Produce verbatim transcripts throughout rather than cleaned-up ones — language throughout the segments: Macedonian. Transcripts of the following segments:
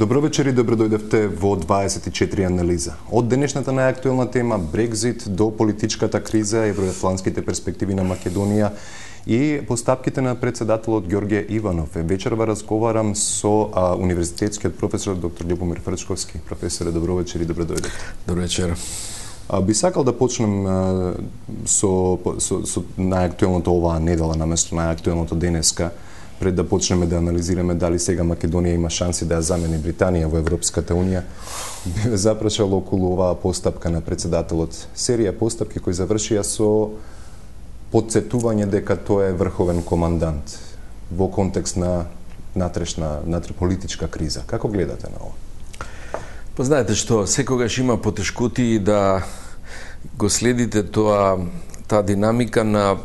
Добро вечер и добро дојдевте во дваесет и четири анализа. Од денешната најактуелна тема Брекзит до политичката криза, евроатлантските перспективи на Македонија и постапките на председателот Ѓорѓе Иванов. Вечерва разговарам со а, универзитетскиот професор доктор Љубомир Фрчковски. Професоре, добро вечер и добро дојдевте. Добро вечер. А, би сакал да почнем а, со, со, со најактуелното оваа недела наместо најактуелното денеска, пред да почнеме да анализираме дали сега Македонија има шанси да ја замени Британија во Европската Унија. Би запрашал околу оваа постапка на председателот. Серија постапки кои завршија со потсетување дека тој е врховен командант во контекст на натрешна, натре политичка криза. Како гледате на ова? Па знаете што, секогаш има потешкоти да го следите тоа, таа динамика на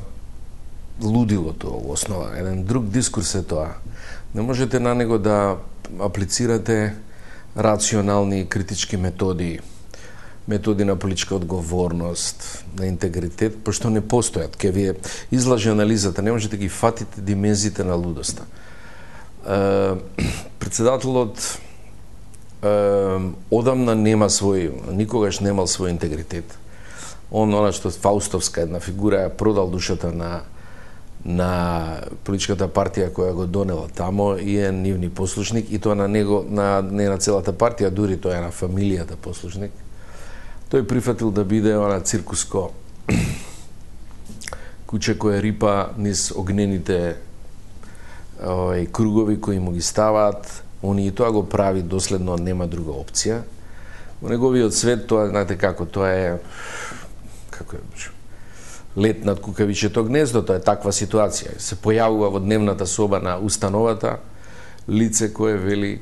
лудилото во основа. Еден друг дискурс е тоа. Не можете на него да аплицирате рационални критички методи, методи на политичка одговорност, на интегритет, пошто не постојат. Ке ви излаже анализата, не можете ги фатите димензиите на лудоста. Е, председателот е, одамна нема свој, никогаш немал свој интегритет. Он, она што Фаустовска една фигура, ја продал душата на на политичката партија која го донела тамо и е нивни послушник, и тоа на него, на не на целата партија, дури тоа е на фамилијата послушник. Тој прифатил да биде она циркуско куче кое рипа низ огнените овај кругови кои му ги ставаат, они и тоа го прави доследно, нема друга опција. Во неговиот свет тоа, знаете како, тоа е како е лет над кукавичето гнездо, тоа е таква ситуација. Се појавува во дневната соба на установата лице кое вели: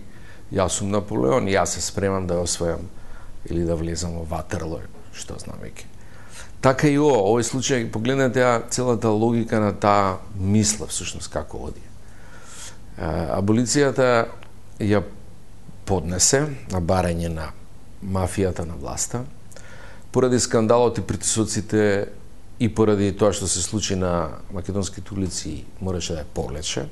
јас сум Наполеон, јас се спремам да освојам или да влезам во Ватерло, што знам веќе. Така и ова, овој случај, погледнете ја целата логика на таа мисла, всушност како оди. Аболицијата ја поднесе на барање на мафијата на власта, поради скандалот и притисоците и поради тоа што се случи на македонските улици, мораше да ја повлече.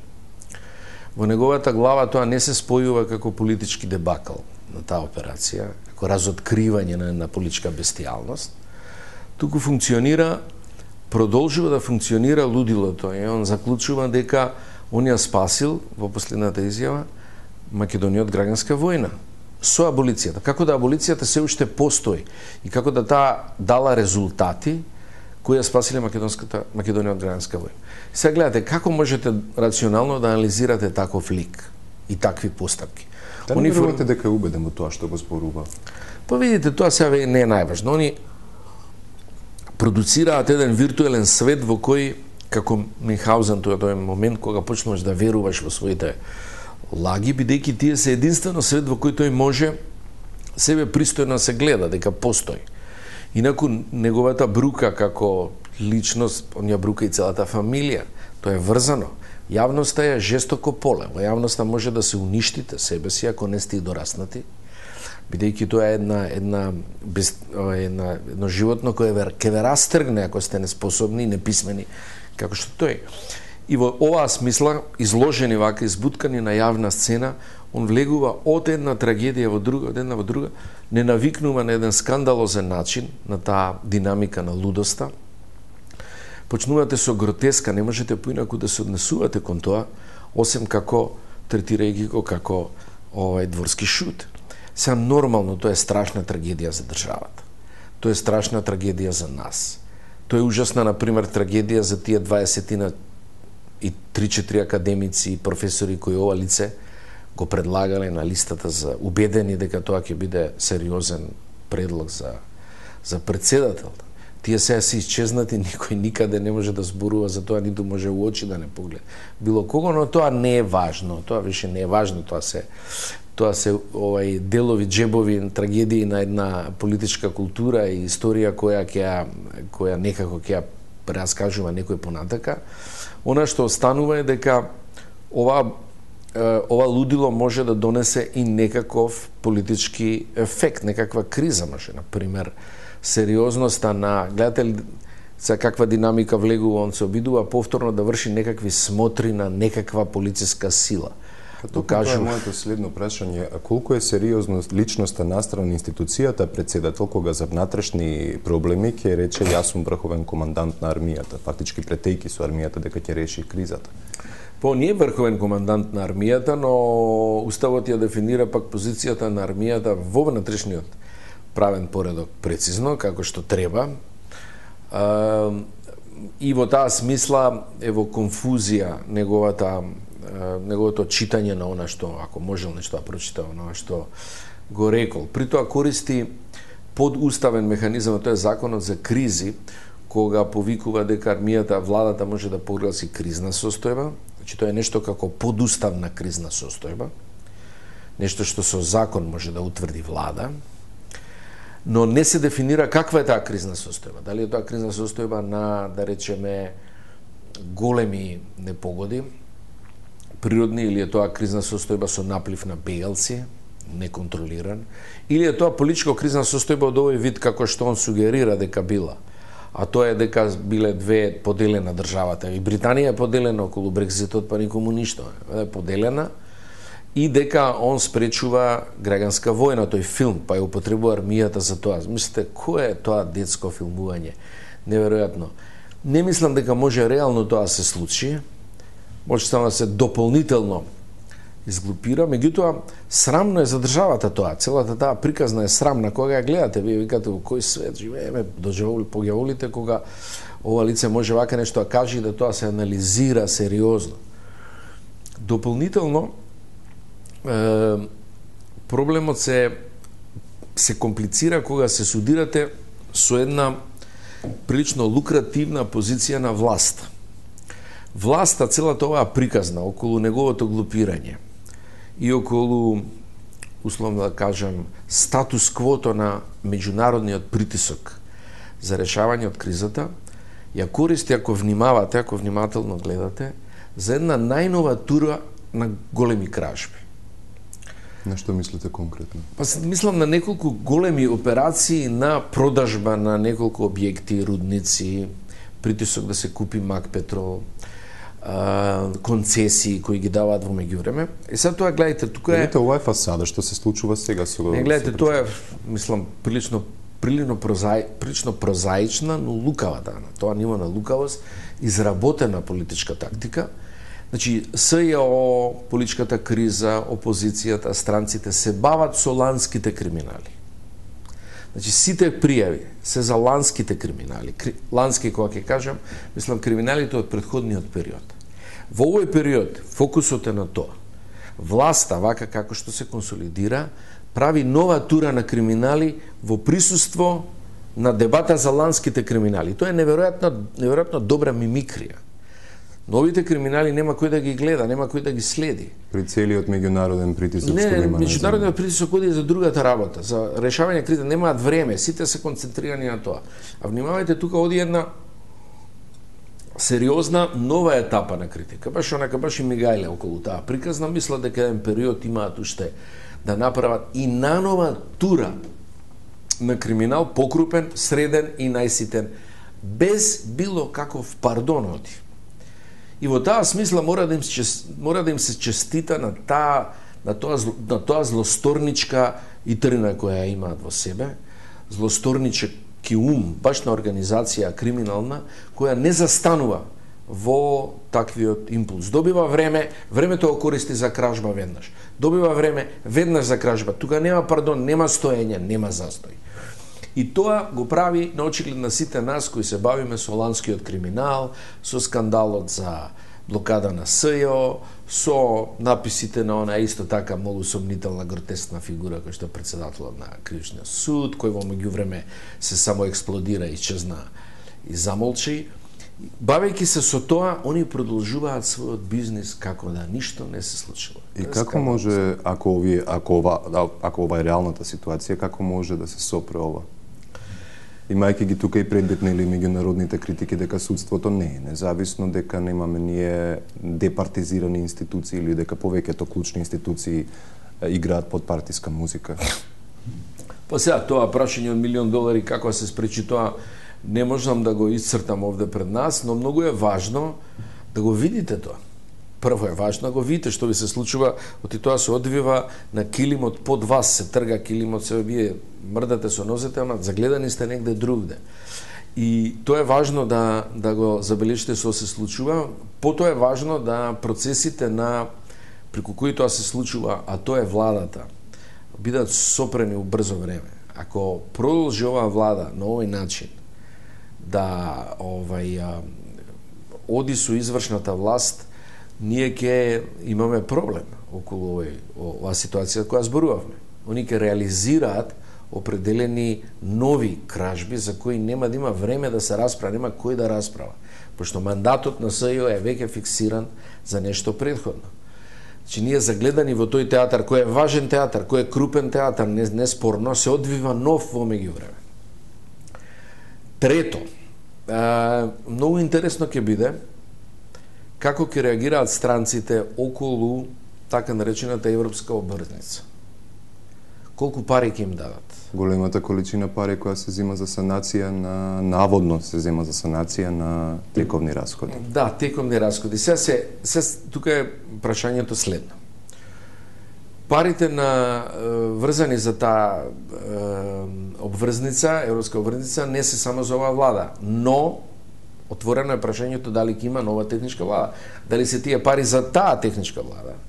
Во неговата глава тоа не се спојува како политички дебакл на таа операција, како разоткривање на, на политичка бестијалност, туку функционира, продолжува да функционира лудилото, и он заклучува дека он ја спасил во последната изјава Македонија од граѓанска војна со аболицијата. Како да аболицијата се уште постои и како да таа дала резултати кои ја спасиле македонската Македонија од граѓанска војна. Сега гледате како можете рационално да анализирате таков лик и такви постапки. Дали Они верувате фор... дека е убеден во тоа што го зборува? Па видите, тоа сега не е најважно. Они продуцираат еден виртуелен свет во кој, како Мюнхгаузен, тоа тој момент кога почнуваш да веруваш во своите лаги, бидејќи тие се единствено свет во кој тој може себе пристојно се гледа дека постои. Инаку неговата брука како личност, он ја брука и целата фамилија. Тоа е врзано. Јавноста е жестоко поле. Во јавноста може да се уништите себе си ако не сте и дораснати, бидејќи тоа е една една без една едно животно кое ќе ве растргне ако сте неспособни и неписмени како што тој. И во оваа смисла, изложени вака, избуткани на јавна сцена, он влегува од една трагедија во друга, од една во друга, не навикнува на еден скандалозен начин на таа динамика на лудоста. Почнувате со гротеска, не можете поинаку да се однесувате кон тоа, осем како третирајќи го како овај дворски шут. Сега нормално тоа е страшна трагедија за државата. Тоа е страшна трагедија за нас. Тоа е ужасна, на пример, трагедија за тие дваесетина и три-четири академици и професори кои ова лице го предлагале на листата за убедени дека тоа ќе биде сериозен предлог за за председател. Тие сега се исчезнати, никој никаде не може да зборува за тоа, ниту може у очи да не погледа било кого, но тоа не е важно. Тоа више не е важно, тоа се тоа се овај делови, джебови, трагедии на една политичка култура и историја која ќе која некако ќе ја прераскажува некој понатака. Она што останува е дека ова ова лудило може да донесе и некаков политички ефект, некаква криза може, на пример, сериозноста на, гледате ли за каква динамика влегува, он се обидува повторно да врши некакви смотри на некаква полициска сила. Тоа е моето следно прашање. Колку е сериозно личноста настрана институцијата председател кога за внатрешни проблеми ќе рече јас сум врховен командант на армијата, фактички претејки со армијата дека ќе реши кризата? По не е врховен командант на армијата, но уставот ја дефинира пак позицијата на армијата во внатрешниот правен поредок прецизно, како што треба. А, и во таа смисла е во конфузија неговата неговото читање на она што, ако можел нешто да прочита, она што го рекол. При тоа користи подуставен механизам, тоа е законот за кризи, кога повикува дека армијата, владата може да прогласи кризна состојба. Значи тоа е нешто како подуставна кризна состојба, нешто што со закон може да утврди влада, но не се дефинира каква е таа кризна состојба. Дали е тоа кризна состојба на, да речеме, големи непогоди, природни, или е тоа кризна состојба со наплив на бегалци, неконтролиран, или е тоа политичко кризна состојба од овој вид како што он сугерира дека била. А тоа е дека биле две поделена државата. И Британија е поделена околу Брекситот, па никому ништо. Е поделена и дека он спречува граѓанска војна, тој филм, па ја употребува армијата за тоа. Мислите, кој е тоа детско филмување? Неверојатно. Не мислам дека може реално тоа се случи. Може само да се дополнително изглупира, меѓутоа срамно е за државата тоа. Целата таа приказна е срамна кога ја гледате, вие викате во кој свет живееме, доживоли погјаволите кога ова лице може вака нешто да каже и да тоа се анализира сериозно. Дополнително е, проблемот се се комплицира кога се судирате со една прилично лукративна позиција на власт. Власта, целата оваа приказна околу неговото глупирање и околу, условно да кажам, статус квото на меѓународниот притисок за решавање од кризата, ја користи, ако внимавате, ако внимателно гледате, за една најнова тура на големи кражби. На што мислите конкретно? Па мислам на неколку големи операции на продажба на неколку објекти, рудници, притисок да се купи Мак Петрол, концесии кои ги даваат во меѓувреме. И сега тоа гледате, тука е... Гледате, ова е фасада, што се случува сега со... Не, гледате, тоа е, мислам, прилично прилично прозаи, прилично прозаична, но лукава дана. Тоа ниво на лукавост, изработена политичка тактика. Значи, СЈО, политичката криза, опозицијата, странците се бават со ланските криминали. Значи, сите пријави се за ланските криминали. Лански, кога ќе кажам, мислам криминалите од претходниот период. Во овој период фокусот е на тоа. Власта, вака како што се консолидира, прави нова тура на криминали во присуство на дебата за ланските криминали. Тоа е неверојатно, неверојатно добра мимикрија. Новите криминали нема кој да ги гледа, нема кој да ги следи. При целиот меѓународен притисок не, што има. Не, меѓународниот притисок оди за другата работа, за решавање криза, немаат време, сите се концентрирани на тоа. А внимавајте, тука оди една сериозна нова етапа на критика. Баш онака баш и мигајле околу таа приказна, мисла дека еден период имаат уште да направат и нанова тура на криминал, покрупен, среден и најситен, без било каков пардон оди. И во таа смисла мора да им се мора да им се честита на таа на тоа на тоа злосторничка итрина која ја имаат во себе, злосторнички ум, баш на организација криминална која не застанува во таквиот импулс. Добива време, времето го користи за кражба веднаш. Добива време, веднаш за кражба. Тука нема пардон, нема стоење, нема застој. И тоа го прави на очиглед на сите нас кои се бавиме со ланскиот криминал, со скандалот за блокада на СЈО, со написите на она исто така многу сомнителна гротескна фигура кој што е председателот на Кривичниот суд, кој во меѓувреме се само експлодира, исчезна и замолчи. Бавејќи се со тоа, они продолжуваат својот бизнис како да ништо не се случило. И како може, ако овие, ако ова, ако ова е реалната ситуација, како може да се сопре ова? Имајќи ги тука и предметни или меѓународните критики дека судството не е независно, дека немаме ние департизирани институции или дека повеќето клучни институции играат под партиска музика. Па сега тоа прашање од милион долари како се спречи тоа не можам да го исцртам овде пред нас, но многу е важно да го видите тоа. прво е важно го видите што ви се случува, оти тоа се одвива на килимот под вас, се трга килимот, се вие мрдате со нозете, ама загледани сте негде другде. И тоа е важно да, да го забележите што се случува. Потоа е важно да процесите на преку кои тоа се случува, а тоа е владата, бидат сопрени у брзо време. Ако продолжи оваа влада на овој начин да овај а, оди со извршната власт, ние ќе имаме проблем околу овој оваа ситуација која зборувавме. Они ќе реализираат определени нови кражби за кои нема да има време да се расправа, нема кој да расправа, пошто мандатот на СЈО е веќе фиксиран за нешто претходно. Значи ние загледани во тој театар, кој е важен театар, кој е крупен театар, не, не спорно, се одвива нов во меѓувреме. Трето, а, многу интересно ќе биде како ќе реагираат странците околу така наречената европска обврзница. Колку пари ќе им дадат? Големата количина пари која се зема за санација на наводно се зема за санација на тековни расходи. Да, тековни расходи. Се се, се тука е прашањето следно. Парите на е, врзани за таа е, обврзница, европска обврзница, не се само за оваа влада, но отворено е прашањето дали ќе има нова техничка влада. Дали се тие пари за таа техничка влада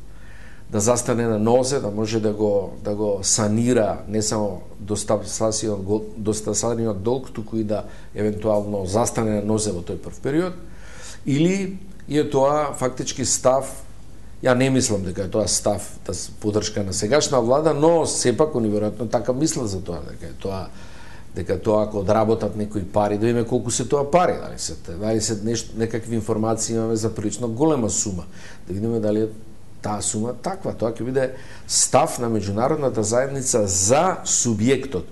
да застане на нозе, да може да го да го санира не само достасаниот долг, туку и да евентуално застане на нозе во тој прв период, или е тоа фактички став, ја не мислам дека е тоа став да поддршка на сегашна влада, но сепак они веројатно така мислат за тоа, дека е тоа дека тоа ако одработат некои пари, да видиме колку се тоа пари, дали се дали се нешто некакви информации имаме за прилично голема сума, да видиме дали е таа сума таква. Тоа ќе биде став на меѓународната заедница за субјектот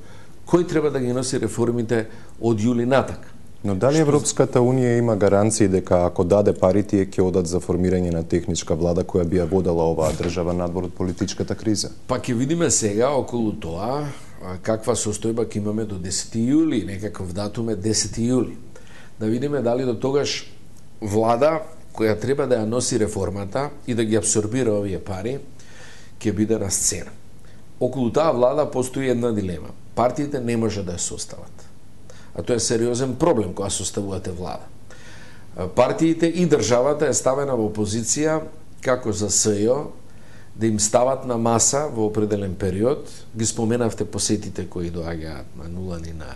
кој треба да ги носи реформите од јули натак. Но дали Европската унија има гаранции дека ако даде пари тие ќе одат за формирање на техничка влада која би ја водела оваа држава надвор од политичката криза? Па ќе видиме сега околу тоа каква состојба ќе имаме до десети јули, некаков датум е десети јули. Да видиме дали до тогаш влада која треба да ја носи реформата и да ги абсорбира овие пари, ќе биде на сцена. Околу таа влада постои една дилема. Партиите не може да ја состават. А тоа е сериозен проблем кога составувате влада. Партиите и државата е ставена во позиција како за СЈО да им стават на маса во определен период. Ги споменавте посетите кои доаѓаат на нулани на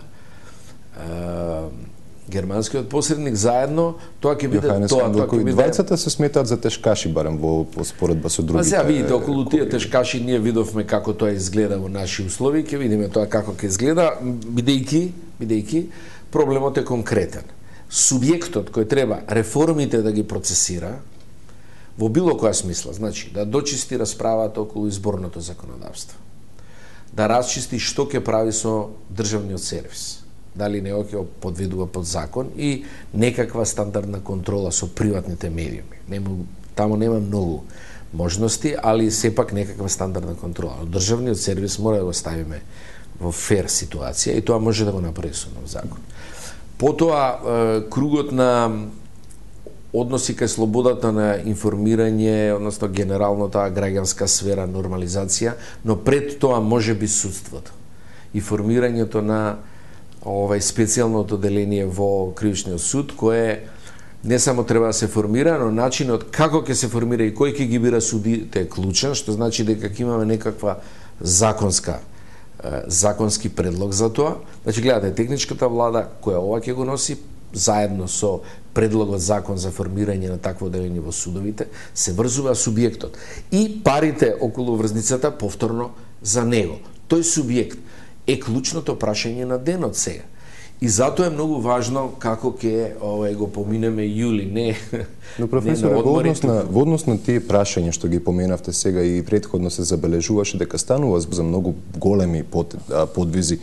германскиот посредник заедно, тоа ќе биде Јоханес тоа, тоа ќе биде. Двајцата се сметаат за тешкаши барем во споредба со другите. А сега видите околу тие тешкаши ние видовме како тоа изгледа во наши услови, ќе видиме тоа како ќе изгледа, бидејќи бидејќи проблемот е конкретен. Субјектот кој треба реформите да ги процесира во било која смисла, значи да дочисти расправата околу изборното законодавство, да расчисти што ќе прави со државниот сервис, дали не ќе подведува под закон и некаква стандардна контрола со приватните медиуми. Нема, таму нема многу можности, али сепак некаква стандардна контрола. Но државниот сервис мора да го ставиме во фер ситуација и тоа може да го направи со нов закон. Потоа, кругот на односи кај слободата на информирање, односно генерално таа граѓанска сфера, нормализација, но пред тоа може би судството и формирањето на овај специјалното деление во кривичниот суд, кое не само треба да се формира, но начинот како ќе се формира и кој ќе ги бира судите е клучен, што значи дека ќе имаме некаква законска законски предлог за тоа. Значи гледате, техничката влада која ова ќе го носи заедно со предлогот закон за формирање на такво деление во судовите, се врзува субјектот и парите околу врзницата повторно за него. Тој субјект е клучното прашање на денот сега. И затоа е многу важно како ќе овај го поминеме јули, не. Но професор, во однос на во однос на тие прашања што ги поминавте сега и претходно се забележуваше дека станува за многу големи под, подвизи,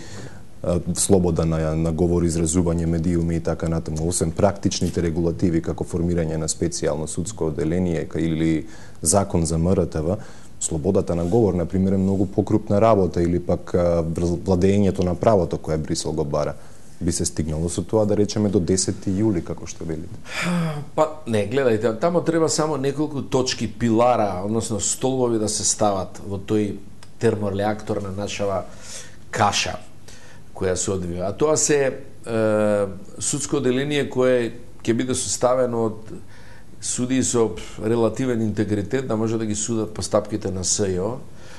слобода на, на говор, изразување, медиуми и така натаму, освен практичните регулативи како формирање на специјално судско одделение или закон за М Р Т В, слободата на говор, например, е многу покрупна работа или пак владењето на правото кое Брисел го бара. би се стигнало со тоа, да речеме, до десети јули, како што велите? Па, не, гледајте, тамо треба само неколку точки, пилара, односно столбови да се стават во тој термореактор на нашава каша која се одвива. А тоа се е, судско оделение кое ќе биде составено од суди со релативен интегритет, да може да ги судат постапките на СЈО,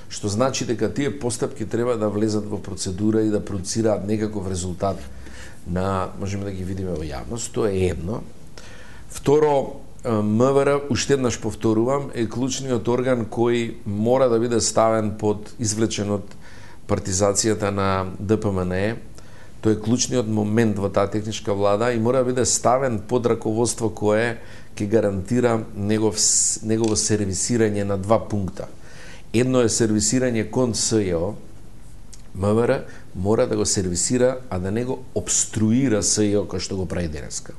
што значи дека тие постапки треба да влезат во процедура и да продуцираат некаков резултат на, можеме да ги видиме во јавност, тоа е едно. Второ, МВР, уште еднаш повторувам, е клучниот орган кој мора да биде ставен под, извлечен од партизацијата на ДПМНЕ. Тој е клучниот момент во таа техничка влада и мора да биде ставен под раководство кое ќе гарантира негов, негово сервисирање на два пункта. Едно е сервисирање кон СЈО, МВР мора да го сервисира, а да не го обструира СЈО кој што го прави денеска.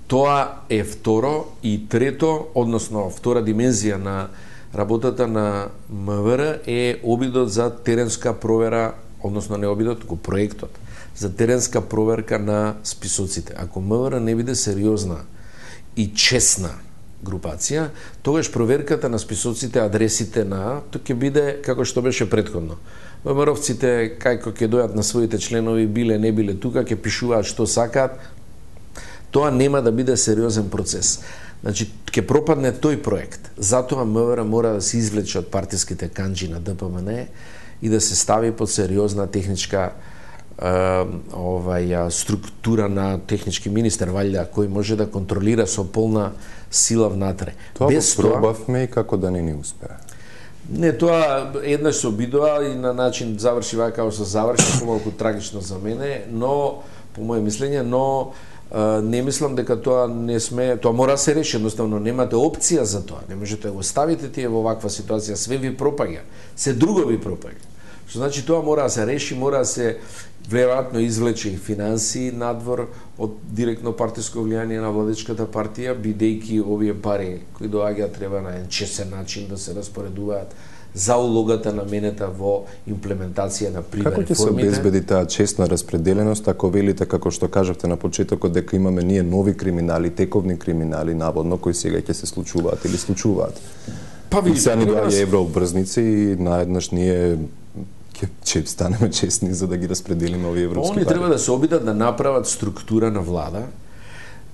Тоа е второ и трето, односно втора димензија на работата на МВР е обидот за теренска провера, односно не обидот, го проектот за теренска проверка на списоците. Ако МВР не биде сериозна и честна групација, тогаш проверката на списоците, адресите на, тоа ќе биде како што беше претходно. ВМРО-вците, кајко ќе дојат на своите членови, биле, не биле тука, ќе пишуваат што сакаат, тоа нема да биде сериозен процес. Значи, ќе пропадне тој проект. Затоа МВР мора да се извлече од партиските канџи на ДПМНЕ и да се стави под сериозна техничка е, овај, структура на технички министер, валјда, кој може да контролира со полна сила внатре. Тоа без го пробавме и како да не ни успеа. Не, тоа еднаш се обидува и на начин заврши вака како се заврши, помалку трагично за мене, но, по моје мислење, но Uh, не мислам дека тоа не сме, тоа мора да се реши, едноставно немате опција за тоа. Не можете да го ставите тие во ваква ситуација, све ви пропаѓа, се друго ви пропаѓа. Што значи тоа мора да се реши, мора да се веројатно извлече и финансии надвор од директно партиско влијание на владичката партија, бидејќи овие пари кои доаѓаат треба на еден честен начин да се распоредуваат за улогата наменета во имплементација на прива реформите. Како ќе се обезбеди таа честна распределеност, ако велите, како што кажавте на почетокот, дека имаме ние нови криминали, тековни криминали, наводно, кои сега ќе се случуваат или случуваат? Па ви сега ни доаѓа еврообрзници и наеднаш ние ќе станеме честни за да ги распределиме овие европски пари. Они треба да се обидат да направат структура на влада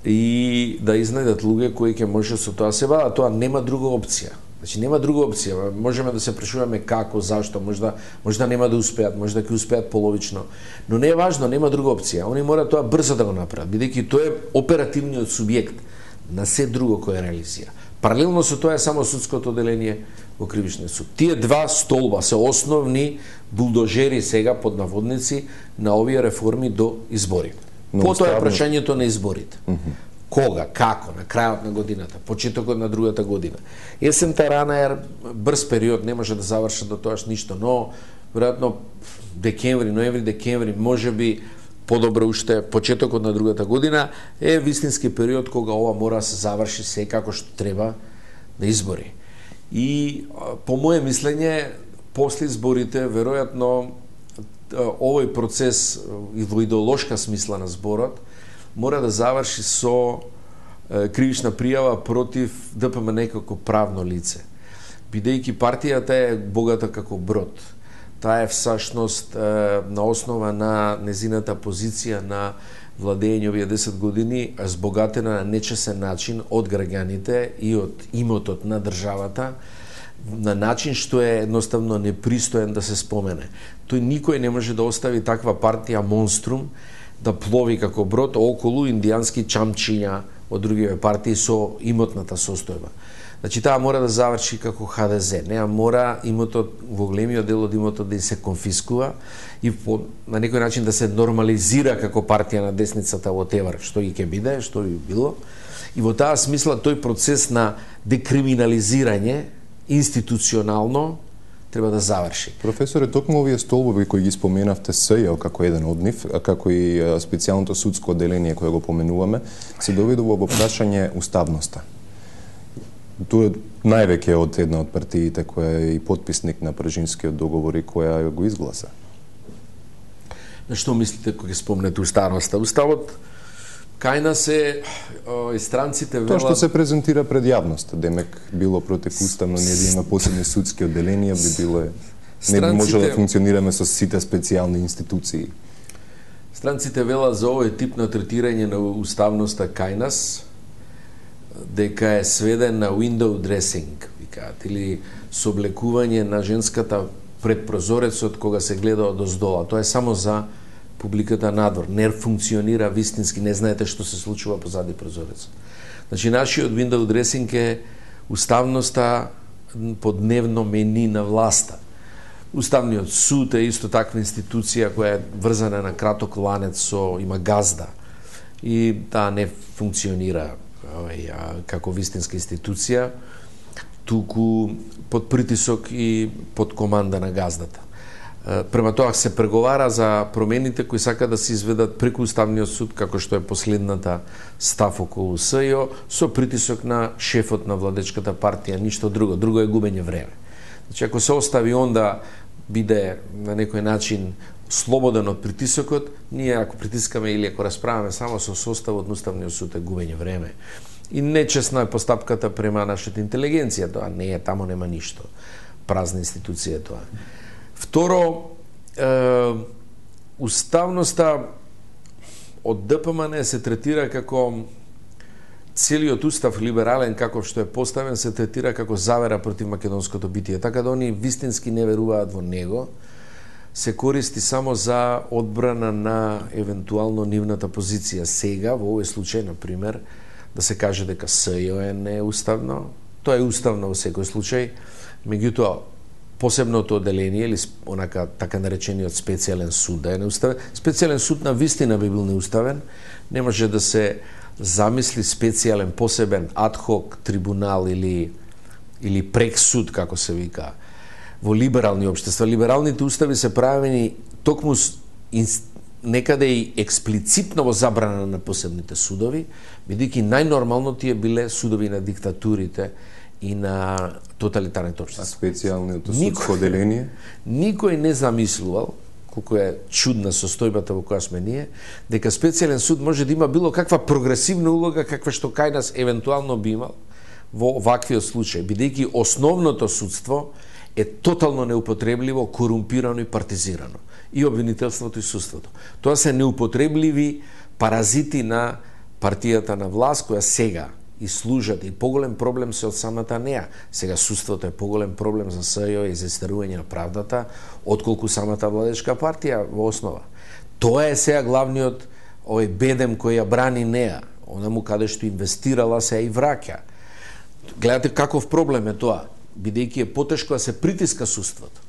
и да изнајдат луѓе кои ќе може со тоа се бават. Тоа нема друга опција. Значи нема друга опција. Можеме да се прашуваме како, зашто, можда можда нема да успеат, можда ќе успеат половично, но не е важно, нема друга опција. Они мора тоа брзо да го направат, бидејќи тоа е оперативниот субјект на се друго кој реализира. Паралелно со тоа е само судското оделение во кривичниот суд. Тие два столба се основни булдожери сега под наводници на овие реформи до изборите. Потоа е прашањето на изборите. Mm -hmm. Кога, како, на крајот на годината, почетокот на другата година. Есента рана е брз период, не може да завршат до тоаш ништо, но веројатно декември, ноември, декември, можеби подобро уште почетокот на другата година е вистински период кога ова мора да се заврши се како што треба на избори. И по моје мислење, после изборите веројатно овој процес и во идеолошка смисла на зборот мора да заврши со е, кривична пријава против ДПМНЕ како правно лице. Бидејќи партијата е богата како брод. Таа е всушност е, на основа на незината позиција на владење овие десет години збогатена на нечесен начин од граѓаните и од имотот на државата, на начин што е едноставно непристоен да се спомене. Тој никој не може да остави таква партија монструм да плови како брод околу индијански чамчиња од другиве партии со имотната состојба. Значи таа мора да заврши како Х Д З. Неа мора имотот, во големиот дел од имотот да се конфискува и по, на некој начин да се нормализира како партија на десницата во Тевар, што и ќе биде, што би било. И во таа смисла тој процес на декриминализирање институционално треба да заврши. Професоре, токму овие столбови кои ги споменавте СЈО како еден од нив, како и специјалното судско оделение кое го поменуваме, се доведува во прашање уставноста. Тоа највеќе од една од партиите која е и потписник на Пржинскиот договор и која го изгласа. На што мислите кога ќе спомнете уставноста? Уставот кај нас е и странците велат... Тоа што се презентира пред јавноста, демек било противуставно, ние да има посебни судски одделенија, би било не би можело да функционираме со сите специјални институции. Странците велат за овој тип на третирање на уставноста кај нас, дека е сведен на window dressing, викаат, или соблекување на женската пред прозорецот кога се гледа од оздола. Тоа е само за публиката надвор. Не функционира вистински, не знаете што се случува позади прозорецот. Значи, нашиот window dressing е уставноста по дневно мени на власта. Уставниот суд е исто таква институција која е врзана на краток ланец со има газда и таа не функционира овај, како вистинска институција, туку под притисок и под команда на газдата. Према тоа се преговара за промените кои сака да се изведат преку Уставниот суд, како што е последната став околу СЈО, со притисок на шефот на владечката партија, ништо друго. Друго е губење време. Значи, ако се остави он да биде на некој начин слободен од притисокот, ние ако притискаме или ако расправаме само со составот на Уставниот суд е губење време. И нечесна е постапката према нашата интелигенција, тоа не е, тамо нема ништо. Празна институција е тоа. Второ, е, уставноста од ДПМН се третира како целиот устав либерален каков што е поставен се третира како завера против македонското битие. Така да они вистински не веруваат во него, се користи само за одбрана на евентуално нивната позиција. Сега, во овој случај, на пример, да се каже дека СЈО е неуставно, тоа е уставно во секој случај, меѓутоа, посебното одделение или онака така наречениот специјален суд да е неуставен. Специјален суд на вистина би бил неуставен, не може да се замисли специјален посебен адхок трибунал или или прексуд како се вика во либерални општества. Либералните устави се правени токму некаде и експлицитно во забрана на посебните судови, бидејќи најнормално тие биле судови на диктатурите и на тоталитарните општества. А специјалното судско одделение? Никој не замислувал, колку е чудна состојбата во која сме ние, дека специјален суд може да има било каква прогресивна улога, каква што кај нас евентуално би имал во ваквиот случај, бидејќи основното судство е тотално неупотребливо, корумпирано и партизирано. И обвинителството и судството. Тоа се неупотребливи паразити на партијата на власт, која сега и служат, и поголем проблем се од самата неа. Сега судството е поголем проблем за СЈО и за истерување на правдата, отколку самата владечка партија во основа. Тоа е сега главниот овој бедем кој ја брани неа, онаму каде што инвестирала се и враќа. Гледате каков проблем е тоа, бидејќи е потешко да се притиска судството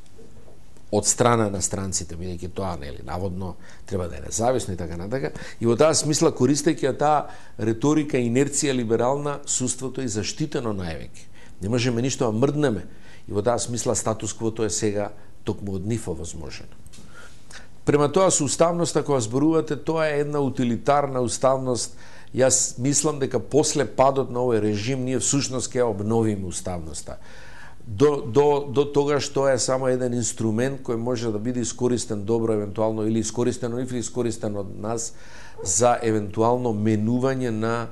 од страна на странците, бидејќи тоа нели наводно треба да е независно и така натака. И во таа смисла, користејќи таа реторика и инерција либерална, судството е заштитено највеќе. Не можеме ништо да мрднеме. И во таа смисла статус-квото е сега токму од нив овозможено. Према тоа со уставноста кога зборувате, тоа е една утилитарна уставност. Јас мислам дека после падот на овој режим ние всушност ќе обновиме уставноста. До, до, до тогаш тоа е само еден инструмент кој може да биде искористен добро евентуално или искористен или искористен од нас за евентуално менување на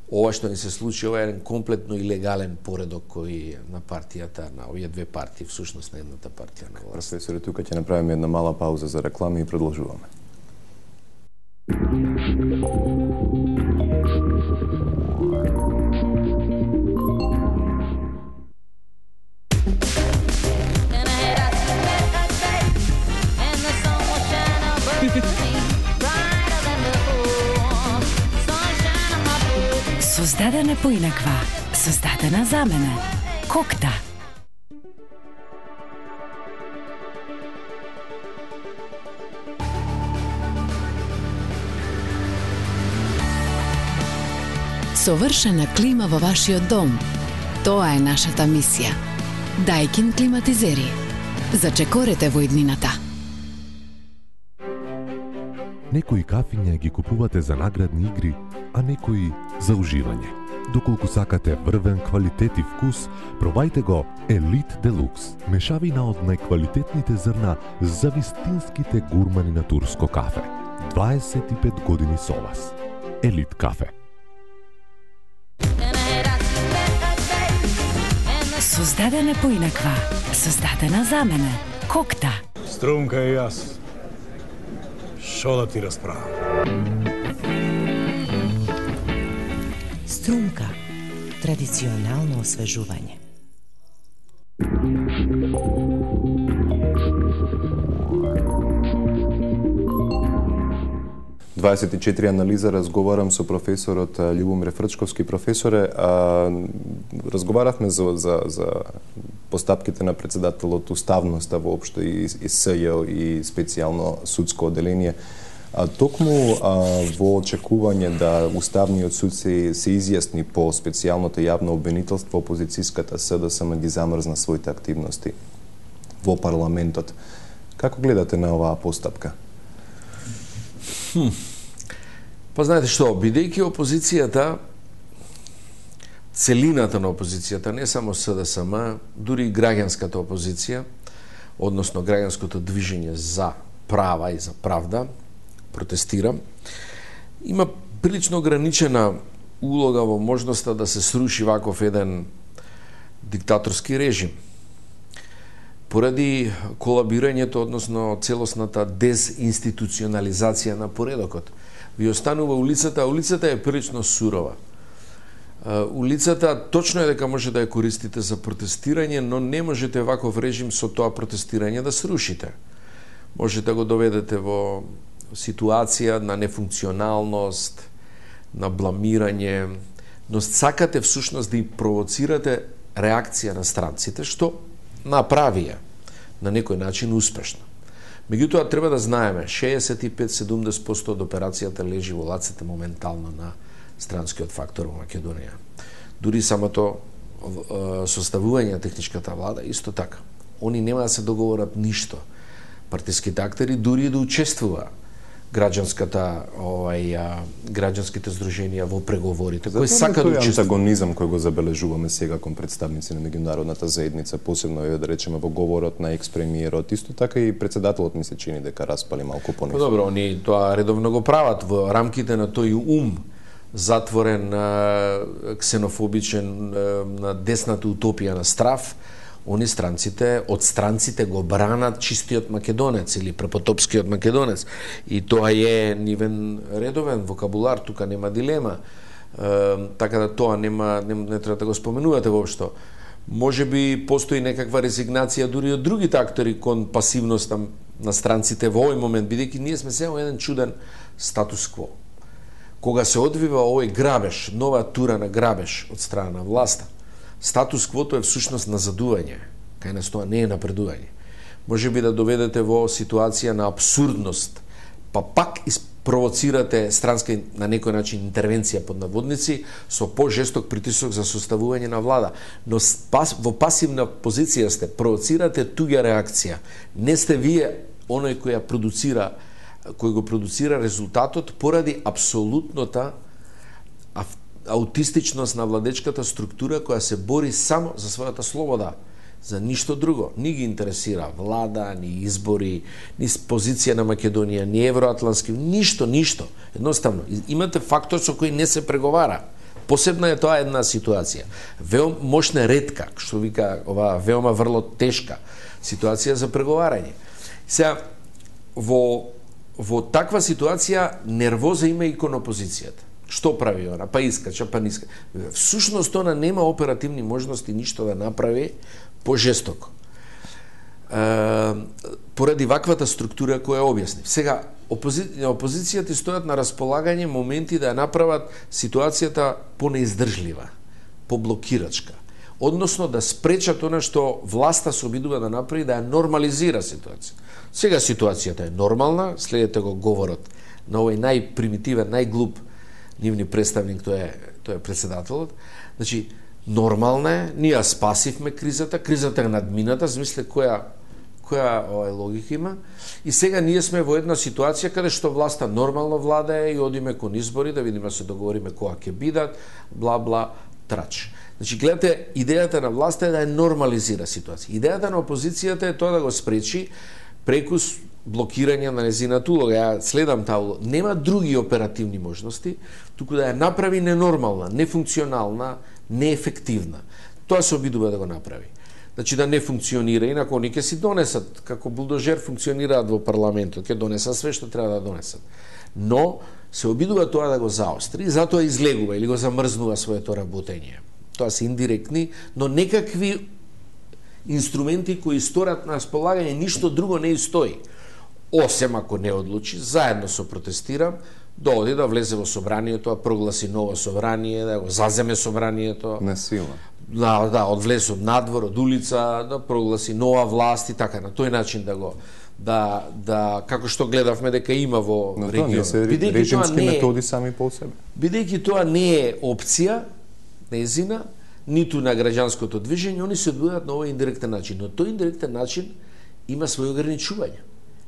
ова што ни се случи, ова е еден комплетно илегален поредок кој на партијата, на овие две партии, всушност на едната партија на власт. Професоре, тука ќе направиме една мала пауза за реклами и продолжуваме. Создадена поинаква, создадена за мене. Кокта. Совршена клима во вашиот дом. Тоа е нашата мисија. Дајкин климатизери. Зачекорете во иднината. Некои кафиња ги купувате за наградни игри, а некои за уживање. Доколку сакате врвен квалитет и вкус, пробајте го Елит Делукс. Мешавина од најквалитетните зрна за вистинските гурмани на турско кафе. дваесет и пет години со вас. Елит кафе. Создадена поинаква, создадена за мене. Кокта. Струмка и јас. Шо да ти расправам? Струмка. Традиционално освежување. дваесет и четири анализа разговарам со професорот Љубомир Фрчковски. Професоре, а, разговаравме за, за, за постапките на председателот, уставноста воопшто и, и СЈ и специјално судско оделение. А, токму а, во очекување да уставниот суд се, се изјасни по специјалното јавно обвинителство, опозицијската СДСМ ги замрзна своите активности во парламентот. Како гледате на оваа постапка? Хм. Па знаете што, бидејќи опозицијата, целината на опозицијата, не само СДСМ, дури и граѓанската опозиција, односно граѓанското движење за права и за правда, протестира, има прилично ограничена улога во можноста да се сруши ваков еден диктаторски режим. Поради колабирањето, односно целосната дезинституционализација на поредокот, ви останува улицата, а улицата е прилично сурова. Улицата точно е дека може да ја користите за протестирање, но не можете ваков режим со тоа протестирање да срушите. Можете да го доведете во ситуација на нефункционалност, на бламирање, но сакате всушност да и провоцирате реакција на странците, што направија на некој начин успешно. Меѓутоа, треба да знаеме, шеесет и пет до седумдесет проценти од операцијата лежи во лаците моментално на странскиот фактор во Македонија. Дури самото составување на техничката влада, исто така. Они нема да се договорат ништо. Партиските актери дури да учествува граѓанската, овај, граѓанските здруженија во преговорите, кои сака да учествува. Антагонизам кој го забележуваме сега кон представници на меѓународната заедница, посебно е да речеме во говорот на екс-премиерот, исто така и председателот ми се чини дека распали малку пониско. Добро, они тоа редовно го прават во рамките на тој ум затворен, ксенофобичен, на десната утопија на страв. Они странците, од странците го бранат чистиот македонец или препотопскиот македонец. И тоа е нивен редовен вокабулар, тука нема дилема. Е, така да тоа нема, не, не треба да го споменувате воопшто. Може би постои некаква резигнација дури од другите актори кон пасивноста на странците во овој момент, бидејќи ние сме сега во еден чуден статус-кво. Кога се одвива овој грабеж, нова тура на грабеж од страна на власта, статус-квото е всушност назадување, кај нас тоа не е напредување. Може би да доведете во ситуација на абсурдност, па пак провоцирате странска на некој начин интервенција под наводници со пожесток притисок за составување на влада. Но во пасивна позиција сте, провоцирате туѓа реакција. Не сте вие оној кој ја продуцира, кој го продуцира резултатот поради апсолутната аутистичност на владечката структура која се бори само за својата слобода, за ништо друго. Ни ги интересира влада, ни избори, ни позиција на Македонија, ни евроатлански, ништо, ништо. Едноставно, имате фактор со кој не се преговара. Посебна е тоа една ситуација. Веома мощна, ретка, што вика ова веома врло тешка ситуација за преговарање. Сега, во, во таква ситуација нервоза има и кон опозицијата. Што прави она? Па искача, па ниска. Всушност она нема оперативни можности ништо да направи пожестоко. Е, поради ваквата структура која објасни. Сега, опози... опозицијата стојат на располагање моменти да ја направат ситуацијата понеиздржлива, поблокирачка. Односно да спречат она што власта се обидува да направи, да ја нормализира ситуација. Сега ситуацијата е нормална, следете го говорот на овој најпримитивен, најглуп нивни представник, тоа е, тоа е председателот. Значи, нормална е, ние спасивме кризата, кризата е надмината, замисле која која овај логика има. И сега ние сме во една ситуација каде што власта нормално владае и одиме кон избори да видиме, се договориме која ќе бидат, бла бла трач. Значи гледате, идејата на власта е да ја нормализира ситуација. Идејата на опозицијата е тоа да го спречи преку блокирање на незината улога. Ја следам таа улога. Нема други оперативни можности, туку да ја направи ненормална, нефункционална, неефективна. Тоа се обидува да го направи. Значи да не функционира, инако они ќе си донесат, како булдожер функционираат во парламентот, ќе донесат све што треба да донесат. Но се обидува тоа да го заостри, затоа излегува или го замрзнува своето работење. Тоа се индиректни, но некакви инструменти кои сторат на располагање, ништо друго не стои. Осем ако не одлучи, заедно со протестирам, да оди да влезе во собранието, да прогласи ново собрание, да го заземе собранието. На сила. Да, да, од влез од надвор, од улица, да прогласи нова власт и така, на тој начин да го да да како што гледавме дека има во Но регионот. Но тоа не се режимски методи сами по себе. Бидејќи тоа не е опција незина, ниту на граѓанското движење, они се одвојат на овој индиректен начин, но тој индиректен начин има своји ограничувања.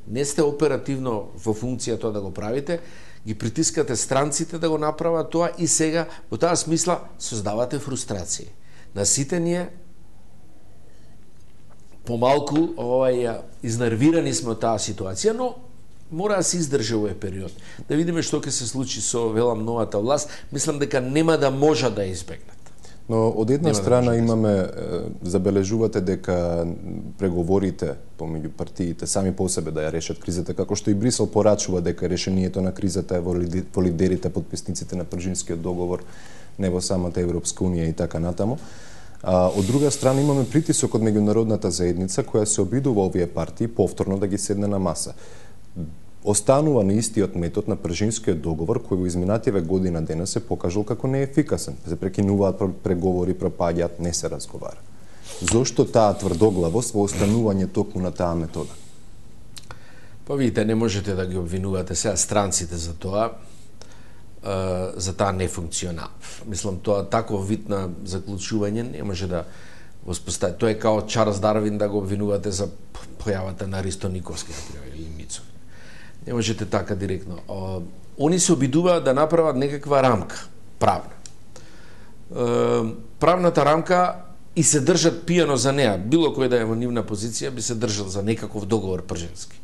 Не сте оперативно во функција тоа да го правите, ги притискате странците да го направат тоа и сега во таа смисла создавате фрустрација. На сите ние помалку овај изнервирани сме од таа ситуација, но мора да се издржи овој период. Да видиме што ќе се случи со велам новата власт, мислам дека нема да можат да избегнат. Но од една Нема страна да имаме, забележувате дека преговорите помеѓу партиите сами по себе да ја решат кризата, како што и Брисел порачува дека решението на кризата е во лидерите, подписниците на Пржинскиот договор, не во самата Европска унија и така натаму. А, од друга страна имаме притисок од меѓународната заедница која се обидува овие партии повторно да ги седне на маса. Останува на истиот метод на Пржинскиот договор кој во изминативе година дена се покажал како неефикасен. Се прекинуваат преговори, пропаѓаат, не се разговара. Зошто таа тврдоглавост во останување токму на таа метода? Па видите, не можете да ги обвинувате сега странците за тоа, за таа нефункционал. Мислам, тоа таков вид на заклучување не може да воспостави. Тоа е као Чарлс Дарвин да го обвинувате за појавата на Аристо Николски, например, или Мицо. Не можете така директно. Они се обидуваат да направат некаква рамка, правна. Правната рамка и се држат пијано за неа. Било кој да е во нивна позиција би се држал за некаков договор пржински.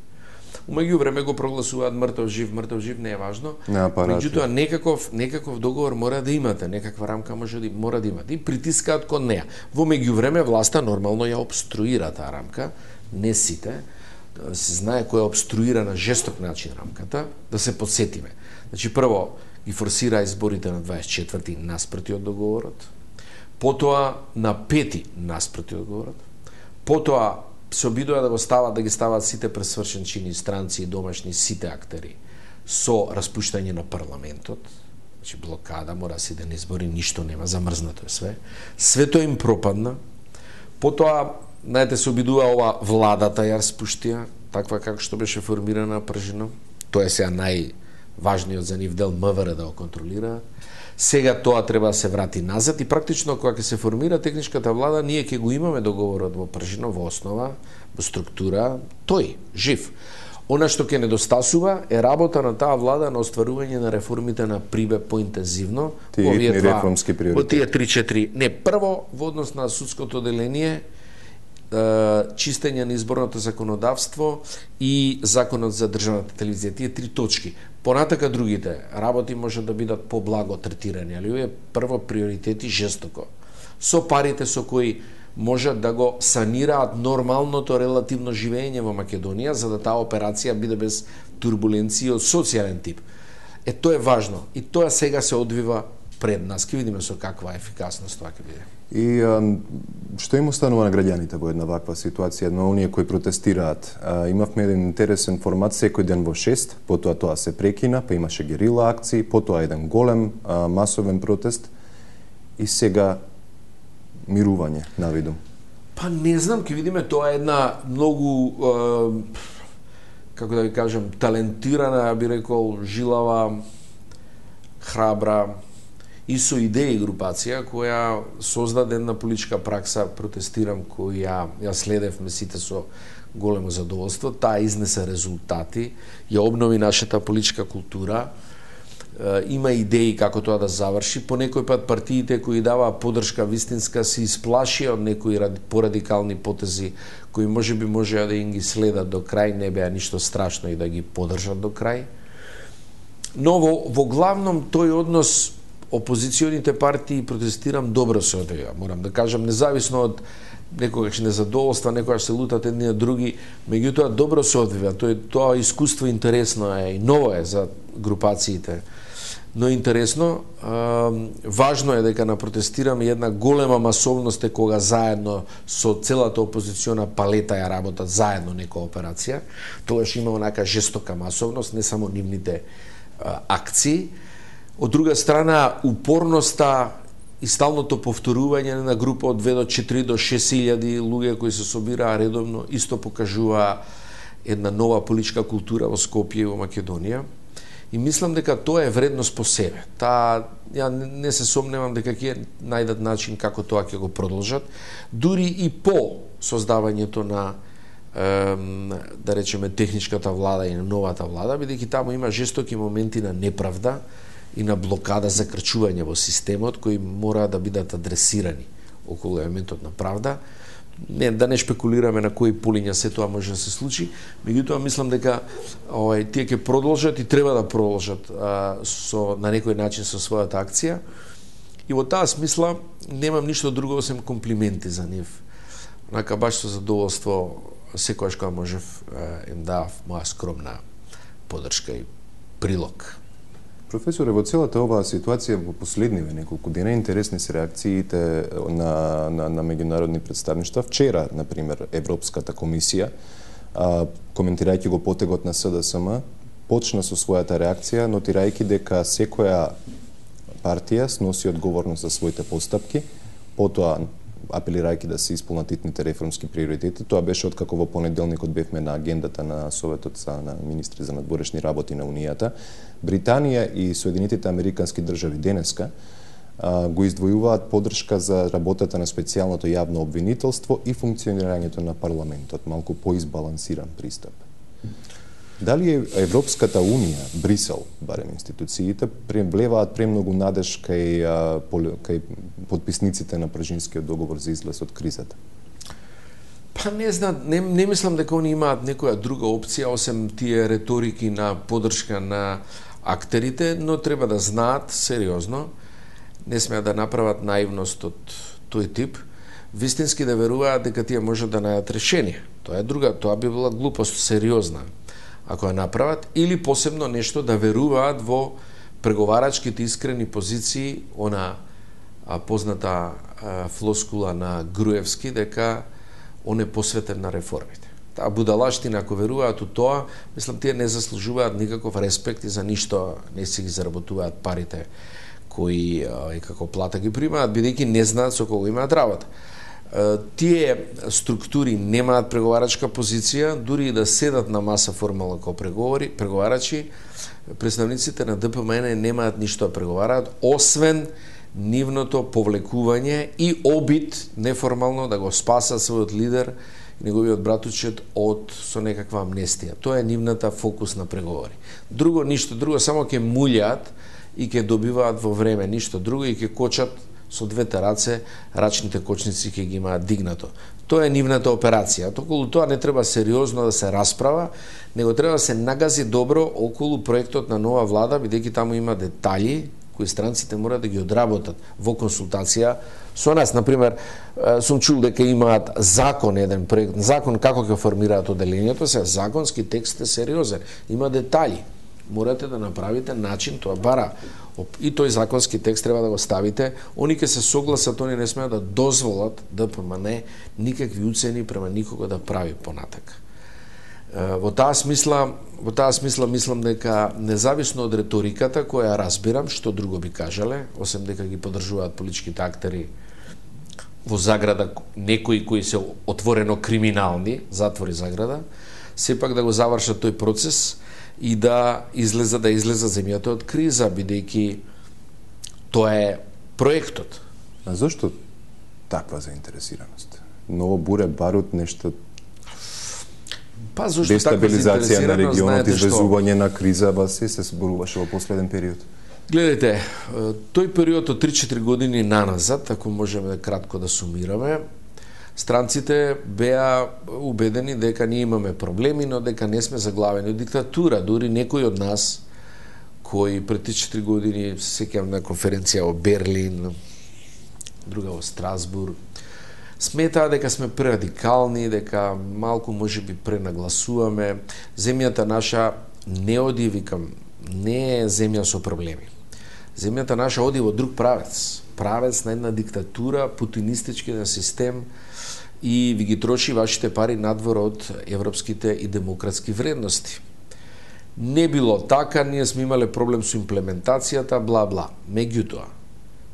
Умеѓу време го прогласуваат мртов жив, мртов жив не е важно. Меѓутоа некаков некаков договор мора да имате, некаква рамка може да мора да имате и притискаат кон неа. Во меѓувреме власта нормално ја обструира таа рамка, не сите. Се знае кој обструира на жесток начин рамката, да се подсетиме. Значи прво ги форсира изборите на дваесет и четврти наспроти од договорот, потоа на пети наспроти од договорот, потоа се обидува да го стават, да ги стават сите пресвршенчини, странци и домашни, сите актери, со распуштање на парламентот, значи блокада, мора се да не избори, ништо нема, замрзнато е све. Свето им пропадна, потоа, знаете, се обидува ова владата ја распуштија, таква како што беше формирана Пржино, тоа е сега најважниот за нив дел МВР да го контролира. Сега тоа треба да се врати назад и практично кога ќе се формира техничката влада, ние ќе го имаме договорот во Пржино во основа, во структура, тој, жив. Она што ќе недостасува е работа на таа влада на остварување на реформите на Прибе поинтензивно во овие два реформски приоритети. Во тие три-четири. Не, прво во однос на судското деление, чистење на изборното законодавство и законот за државната телевизија, тие три точки. Понатака другите работи може да бидат поблаго третирани, али овие прво приоритети жестоко. Со парите со кои можат да го санираат нормалното релативно живење во Македонија, за да таа операција биде без турбуленција од социјален тип. Е, тоа е важно. И тоа сега се одвива пред нас. Ке видиме со каква ефикасност тоа ќе биде. И а, што им останува на граѓаните во една ваква ситуација, на оние кои протестираат? А, имавме еден интересен формат секој ден во шест, потоа тоа се прекина, па имаше герила акции, потоа еден голем а, масовен протест и сега мирување навидум. Па не знам, ќе видиме, тоа е една многу е, како да ви кажам, талентирана, би рекол, жилава, храбра и со идеи групација која создаде една политичка пракса, протестирам, која ја следевме сите со големо задоволство. Таа изнесе резултати, ја обнови нашата политичка култура, има идеи како тоа да заврши. По некој пат партиите кои даваа поддршка вистинска се исплашија од некои порадикални потези кои можеби можеа да им ги следат до крај, не беа ништо страшно и да ги поддржат до крај. Но во, во главном тој однос опозиционите партии, протестирам, добро се одвива. Морам да кажам, независно од некогаш незадоволства, некогаш се лутат едни од други, меѓутоа добро се одвива. Тоа тоа искуство интересно е и ново е за групациите. Но интересно, важно е дека на протестираме една голема масовност е кога заедно со целата опозициона палета ја работат заедно некоја операција. Тогаш има онака жестока масовност, не само нивните акции. Од друга страна, упорноста и сталното повторување на група од две до четири до шест илјади луѓе кои се собираа редовно, исто покажува една нова политичка култура во Скопје и во Македонија. И мислам дека тоа е вредност по себе. Та, ја не се сомневам дека ќе најдат начин како тоа ќе го продолжат, дури и по создавањето на да речеме техничката влада и на новата влада, бидејќи таму има жестоки моменти на неправда и на блокада за крчување во системот кои мора да бидат адресирани околу елементот на правда. Не, да не шпекулираме на кои полиња се тоа може да се случи, меѓутоа мислам дека овај тие ќе продолжат и треба да продолжат а, со на некој начин со својата акција. И во таа смисла немам ништо друго осем комплименти за нив. Онака баш со задоволство секогаш кога можев им давав моја скромна поддршка и прилог. Професоре, во целата оваа ситуација во последниве неколку дена интересни се реакциите на, на, на меѓународни представништва. Вчера, например, Европската комисија, а, коментирајќи го потегот на С Д С М, почна со својата реакција, нотирајќи дека секоја партија сноси одговорност за своите постапки, потоа апелирајќи да се исполнат итните реформски приоритети. Тоа беше откако во понеделникот бевме на агендата на Советот за на министри за надворешни работи на Унијата. Британија и Соединетите Американски држави денеска а, го издвојуваат поддршка за работата на специјалното јавно обвинителство и функционирањето на парламентот, малку поизбалансиран пристап. Дали Европската Унија, Брисел, барем институциите, влеваат премногу надеж кај, кај подписниците на Пржинскиот договор за излез од кризата? Па не знам, не, не мислам дека они имаат некоја друга опција, осем тие реторики на поддршка на актерите, но треба да знаат сериозно, не смеат да направат наивност од тој тип, вистински да веруваат дека тие можат да најдат решение. Тоа е друга, тоа би била глупост сериозна ако ја направат, или посебно нешто да веруваат во преговарачките искрени позиции, она а, позната а, флоскула на Груевски дека он е посветен на реформите. Таа будалаштина, ако веруваат у тоа, мислам, тие не заслужуваат никаков респект и за ништо не си ги заработуваат парите кои а, и како плата ги примаат, бидејќи не знаат со кого имаат работа. Тие структури немаат преговарачка позиција, дури и да седат на маса формално како преговори, преговарачи, представниците на Д П М Н немаат ништо да преговараат, освен нивното повлекување и обид неформално да го спасат својот лидер и неговиот братучет од со некаква амнестија. Тоа е нивната фокус на преговори. Друго, ништо друго, само ќе мулјаат и ќе добиваат во време, ништо друго, и ќе кочат со двете раце, рачните кочници ќе ги имаат дигнато. Тоа е нивната операција. Околу тоа не треба сериозно да се расправа, него треба да се нагази добро околу проектот на нова влада, бидејќи таму има детали кои странците мора да ги одработат во консултација со нас. Например, сум чул дека имаат закон, еден проект, закон како ќе формираат оделението, се законски текст е сериозен, има детали. Морате да направите начин, тоа бара и тој законски текст треба да го ставите. Они ќе се согласат, они не смеат да дозволат Д П М Н никакви уцени према никого да прави понатака. Во таа смисла, во таа смисла мислам дека независно од реториката која разбирам, што друго би кажале, осем дека ги поддржуваат политичките актери во заграда некои кои се отворено криминални, затвори заграда, сепак да го завршат тој процес и да излеза да излеза земјата од криза, бидејќи Тоа е проектот. А зошто таква заинтересираност? Ново буре, барут, нешто Па зошто дестабилизација на регионот, знаете извезување на криза, ба се се зборуваше во последен период. Гледайте, тој период од три-четири години наназад, ако можеме кратко да сумираме, странците беа убедени дека ние имаме проблеми, но дека не сме заглавени од диктатура. Дури некои од нас, кои пред три-четири години се сеќавам на конференција во Берлин, друга во Страсбург, сметаа дека сме прерадикални, дека малку можеби пренагласуваме. Земјата наша не оди, викам, не е земја со проблеми. Земјата наша оди во друг правец. Правец на една диктатура, путинистички на систем и ви ги троши вашите пари надвор од европските и демократски вредности. Не било така, ние сме имале проблем со имплементацијата, бла-бла. Меѓутоа,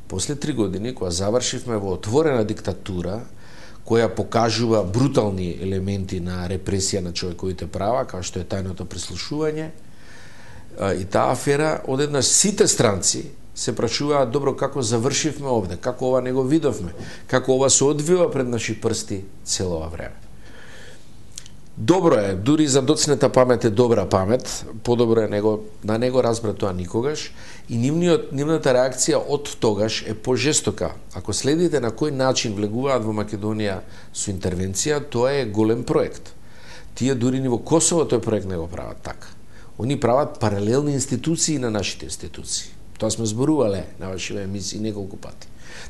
после три години, кога завршивме во отворена диктатура, која покажува брутални елементи на репресија на човековите права, како што е тајното прислушување, и таа афера, одеднаш сите странци се прашуваат, добро, како завршивме овде, како ова не го видовме, како ова се одвива пред наши прсти цело ова време. Добро е, дури за доцнета памет е добра памет, подобро е него, да не го разбра тоа никогаш, и нивниот, нивната реакција од тогаш е пожестока. Ако следите на кој начин влегуваат во Македонија со интервенција, тоа е голем проект. Тие дури ни во Косово тој проект не го прават така. Они прават паралелни институции на нашите институции. Тоа сме зборувале на вашите емисии неколку пати.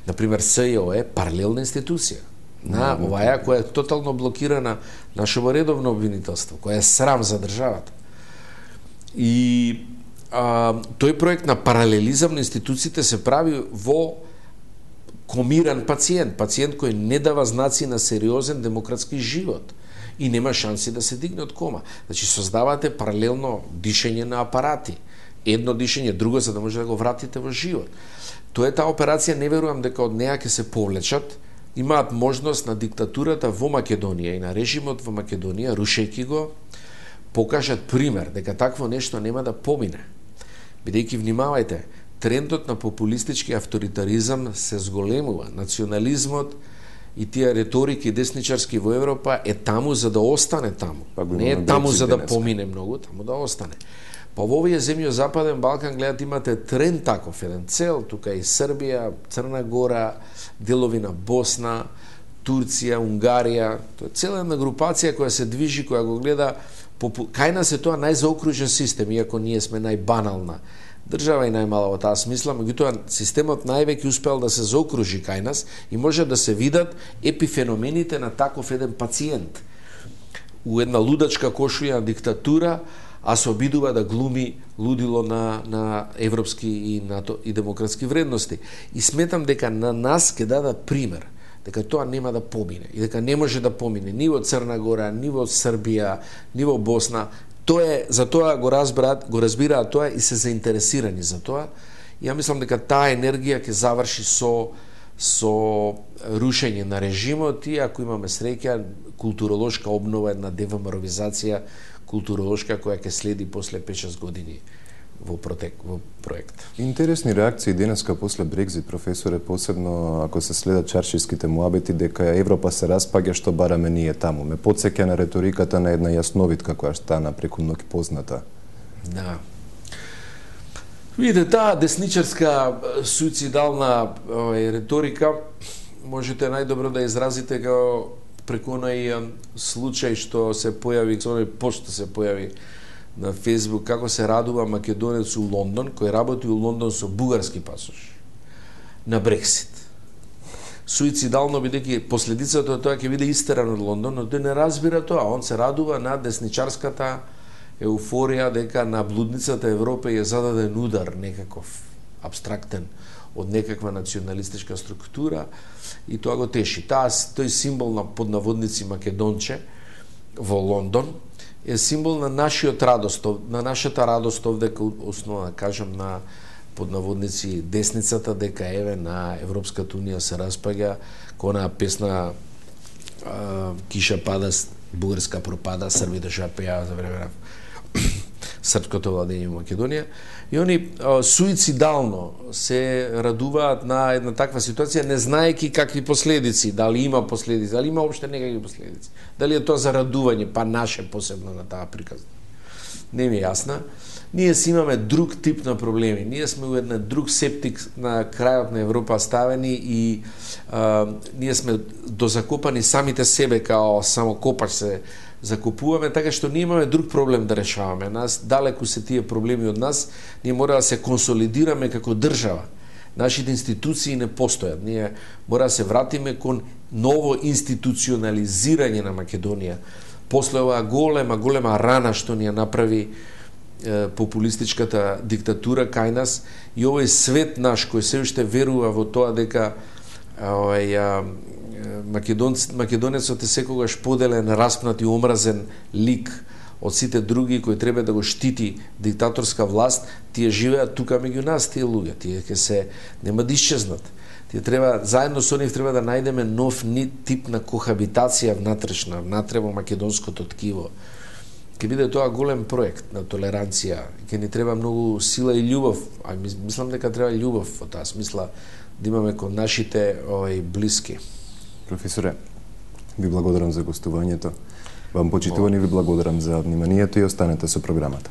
Например, СЈО е паралелна институција на оваја која е тотално блокирана нашето редовно обвинителство, која е срам за државата. И а, тој проект на паралелизам на институциите се прави во комиран пациент, пациент кој не дава знаци на сериозен демократски живот и нема шанси да се дигне од кома. Значи, создавате паралелно дишење на апарати. Едно дишење, друго, за да може да го вратите во живот. Тоа е таа операција, не верувам дека од неа ќе се повлечат. Имаат можност на диктатурата во Македонија и на режимот во Македонија, рушејќи го, покажат пример дека такво нешто нема да помине. Бидејќи, внимавајте, трендот на популистички авторитаризам се зголемува. Национализмот и тие реторики десничарски во Европа е таму за да остане таму. Не е таму за да помине многу, таму да остане. Па во овие земји од Западен Балкан, гледат, имате тренд таков, еден цел, тука и Србија, Црна Гора, делови на Босна, Турција, Унгарија, тоа е цела една групација која се движи, која го гледа, кај нас е тоа најзаокружен систем, иако ние сме најбанална држава и најмала во таа смисла, меѓутоа системот највеќе успел да се заокружи кај нас и може да се видат епифеномените на таков еден пациент у една лудачка кошуја диктатура, а се обидува да глуми лудило на, на европски и, НАТО, и демократски вредности. И сметам дека на нас ќе дадат пример, дека тоа нема да помине и дека не може да помине ни во Црна Гора, ни во Србија, ни во Босна. Тоа е, за тоа го разбираат, го разбираат тоа и се заинтересирани за тоа. И ја мислам дека таа енергија ќе заврши со со рушење на режимот и ако имаме среќа, културолошка обнова, една девамаровизација културолошка која ќе следи после пет-шест години во протек во проект. Интересни реакции денеска после Брекзит, професоре, посебно ако се следат чаршиските муабети дека Европа се распаѓа, што бараме ние таму. Ме потсеќа на реториката на една јасновитка која стана преку ноќ позната. Да. Видите, таа десничарска суицидална овај, реторика можете најдобро да изразите како преку онај случај што се појави, онај пост што се појави на Фејсбук, како се радува македонец у Лондон, кој работи у Лондон со бугарски пасош на Брексит. Суицидално, бидејќи последицата од тоа ќе биде истеран од Лондон, но тој не разбира тоа. Он се радува на десничарската еуфорија дека на блудницата Европа е зададен удар некаков абстрактен од некаква националистичка структура и тоа го теши. Таа, тој символ на поднаводници македонче во Лондон е символ на нашиот радост, на нашата радост овде, основно да кажам, на поднаводници десницата, дека еве на Европската унија се распаѓа, кона песна а, Киша пада, бугарска пропада, србите што ја пеја за време на српското владење во Македонија, и они а, суицидално се радуваат на една таква ситуација, не знаеки какви последици, дали има последици, дали има опште некакви последици, дали е тоа за радување, па наше посебно на таа приказна. Не ми е јасна. Ние си имаме друг тип на проблеми. Ние сме у еден друг септик на крајот на Европа ставени и а, ние сме дозакопани самите себе, као само копач се закупуваме, така што ние имаме друг проблем да решаваме. Нас далеку се тие проблеми од нас, ние мора да се консолидираме како држава. Нашите институции не постојат. Ние мора да се вратиме кон ново институционализирање на Македонија. После оваа голема, голема рана што ни ја направи е, популистичката диктатура кај нас и овој свет наш кој се уште верува во тоа дека овај Македонец, македонецот е секогаш поделен, распнат и омразен лик од сите други кои треба да го штити диктаторска власт, тие живеат тука меѓу нас, тие луѓе, тие ќе се нема да исчезнат. Тие треба заедно со нив треба да најдеме нов тип на кохабитација внатрешна, внатре во македонското ткиво. Ќе биде тоа голем проект на толеранција, ќе ни треба многу сила и љубов, а мислам дека треба љубов во таа смисла да имаме кон нашите овај блиски. Професоре, ви благодарам за гостувањето. Вам почитувани, ви благодарам за вниманието и останете со програмата.